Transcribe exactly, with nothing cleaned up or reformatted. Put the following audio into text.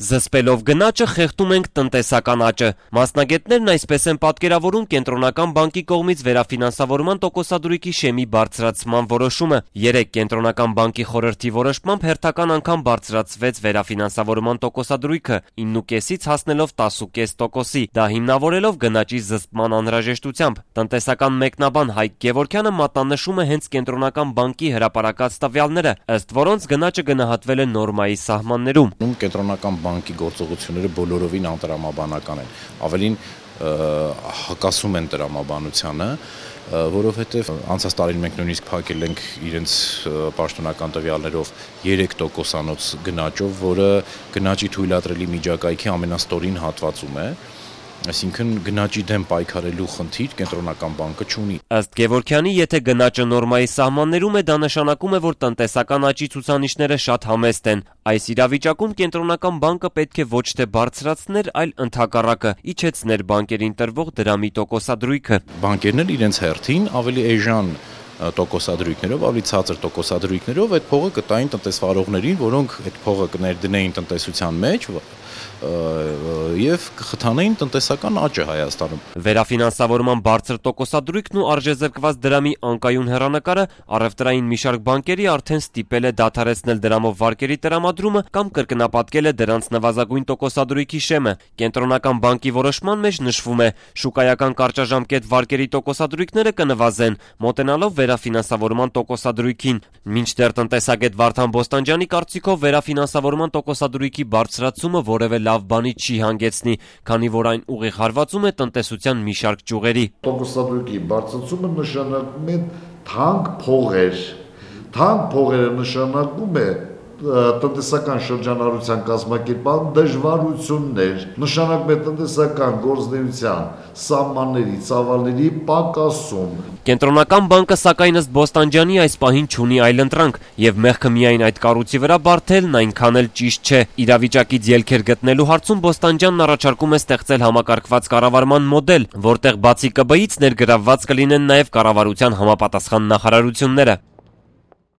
Զսպելով գնաճը խեղդում ենք տնտեսական աճը։ Մասնագետներն այսպես են պատկերավորում Կենտրոնական բանկի կողմից վերաֆինանսավորման տոկոսադրույքի շեմի բարձրացման որոշումը։ Երեկ Կենտրոնական բանկի խորհրդի որոշմամբ հերթական անգամ բարձրացվեց վերաֆինանսավորման տոկոսադրույքը ինը կեսից հասնելով տասը կես տոկոսի, դա հիմնավորելով գնաճի զսպման անհրաժեշտությամբ։ Տնտեսական մեկնաբան Հայկ Գևորգյանը մատնանշում է հենց Կենտրոնական բանկի հրապարակած տվյալները, ըստ որոնց գնաճը գնահատվել է նորմայի սահմաններում։ Կենտրոնական բանկի գործողությունները բոլորովին անտրամաբանական են, ավելին հակասում են տրամաբանությանը, որովհետև անցած տարին մենք նույնիսկ փակել ենք իրենց պաշտոնական տվյալներով երեք տոկոսանոց գնաճով, որը գնաճի թույլատրելի միջակայքի ամենաստորին հատվածում է, այսինքն գնաճի դեմ պայքարելու խնդիր Կենտրոնական բանկը չունի։ Ըստ Գևորգյանի, եթե գնաճը նորմայի սահմաններում է, դա նշանակում է, որ տնտեսական աճի ցուցանիշները շատ համեստ են։ Այս իրավիճակում Կենտրոնական բանկը պետք է ոչ թե բարձրացներ, այլ ընդհակառակը իջեցներ բանկերին տրվող դրամի տոկոսադրույքը։ Բանկերն էլ իրենց հերթին ավելի էժան տոկոսադրույքներով, ավելի ցածր տոկոսադրույքներով այդ փողը կտային տնտեսվարողներին, որոնք այդ փողը կներդնեին տնտեսության մեջ և կխթանեին տնտեսական աճը Հայաստանում։ Վերաֆինանսավորման բարձր տոկոսադրույքն ու արժեզրկված դրամի անկայուն հեռանկարը առևտրային մի շարք բանկերի արդեն ստիպել է դադարեցնել դրամով վարկերի տրամադրումը կամ կրկնապատկել է դրանց նվազագույն տոկոսադրույքի շեմը։ Կենտրոնական բանկի որոշման մեջ նշվում է, շուկայական կարճաժամկետ վարկերի տոկոսադրույքները կնվազեն, մոտենալով վերաֆինանսավորման տոկոսադրույքին։ Մինչդեռ տնտեսագետ Վարդան Բոստանջյանի կարծիքով վերաֆինանսավորման տոկոսադրույքի բարձրացումը որևէ լավ բանի չի հանգեցնի, քանի որ այն ուղիղ հարվածում է տնտեսության մի շարք ճյուղերի։ Տոկոսադրույքի բարձրացումը նշանակում է թանկ փողեր։ Թանկ փողերը նշանակում է տնտեսական շրջանառության կազմակերպման դժվարություններ, նշանակում է տնտեսական գործունեության սահմանների, ծավալների պակասում։ Կենտրոնական բանկը սակայն ըստ Բոստանջյանի այս պահին չունի այլընտրանք, եւ մեղքը միայն այդ կառույցի վրա բարթելն այնքան էլ ճիշտ չէ։ Իրավիճակից ելքեր գտնելու հարցում Բոստանջյանն առաջարկում է ստեղծել համակարգված կառավարման մոդել, որտեղ բացի ԿԲ-ից ներգրավված կլինեն նաեւ կառավարության համապատասխան նախարարությունները։